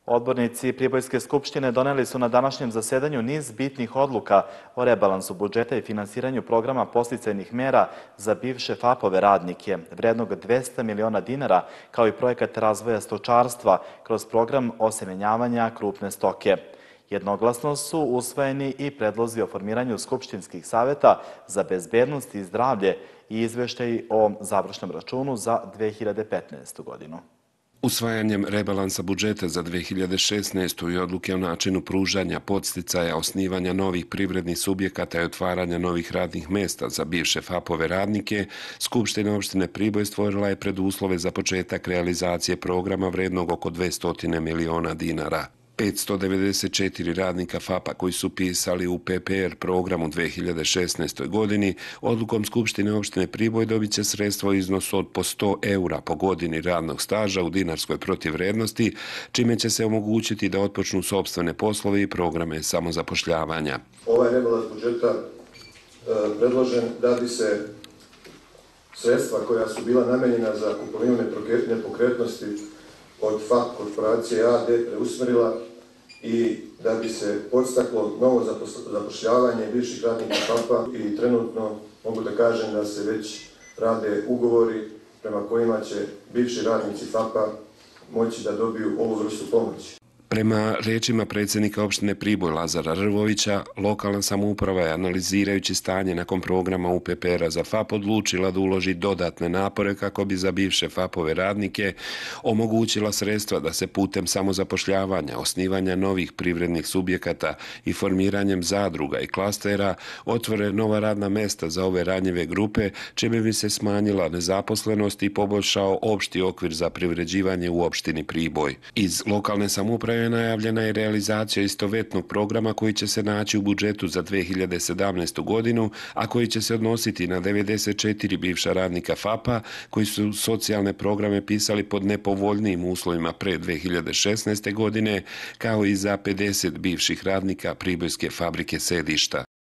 Odbornici Pribojske skupštine doneli su na današnjem zasedanju niz bitnih odluka o rebalansu budžeta i finansiranju programa podsticajnih mera za bivše FAP-ove radnike, vrednog 200 miliona dinara, kao i projekat razvoja stočarstva kroz program osemenjavanja krupne stoke. Jednoglasno su usvojeni i predlozi o formiranju skupštinskih saveta za bezbednost i zdravlje i izveštaji o završnom računu za 2015. godinu. Usvajanjem rebalansa budžeta za 2016. i odluke o načinu pružanja podsticaja, osnivanja novih privrednih subjekata i otvaranja novih radnih mesta za bivše FAP-ove radnike, Skupština opštine Priboj stvorila je preduslove za početak realizacije programa vrednog oko 200 miliona dinara. 594 radnika FAP-a koji su pisali u PPR programu 2016. godini, odlukom Skupštine opštine Priboj dobit će sredstva u iznosu od po 100 eura po godini radnog staža u dinarskoj protivvrednosti, čime će se omogućiti da otpočnu sopstvene poslove i programe samozapošljavanja. Ovaj rebalans budžeta predložen da bi se sredstva koja su bila namenjena za kupovinu nepokretnosti od FAP korporacije AD preusmerila i da bi se podstaklo novo zapošljavanje bivših radnika FAP-a i trenutno mogu da kažem da se već rade ugovori prema kojima će bivši radnici FAP-a moći da dobiju ovu vrstu pomoći. Prema rečima predsjednika opštine Priboj Lazara Rvovića, lokalna samouprava je, analizirajući stanje nakon programa UPPR-a za FAP, odlučila da uloži dodatne napore kako bi za bivše FAP-ove radnike omogućila sredstva da se putem samozapošljavanja, osnivanja novih privrednih subjekata i formiranjem zadruga i klastera otvore nova radna mesta za ove ranjive grupe, čime bi se smanjila nezaposlenost i poboljšao opšti okvir za privređivanje u opštini Priboj. Iz lokalne samouprave najavljena je realizacija istovetnog programa koji će se naći u budžetu za 2017. godinu, a koji će se odnositi na 94 bivša radnika FAP-a koji su socijalne programe pisali pod nepovoljnijim uslovima pre 2016. godine, kao i za 50 bivših radnika Pribojske fabrike Sedišta.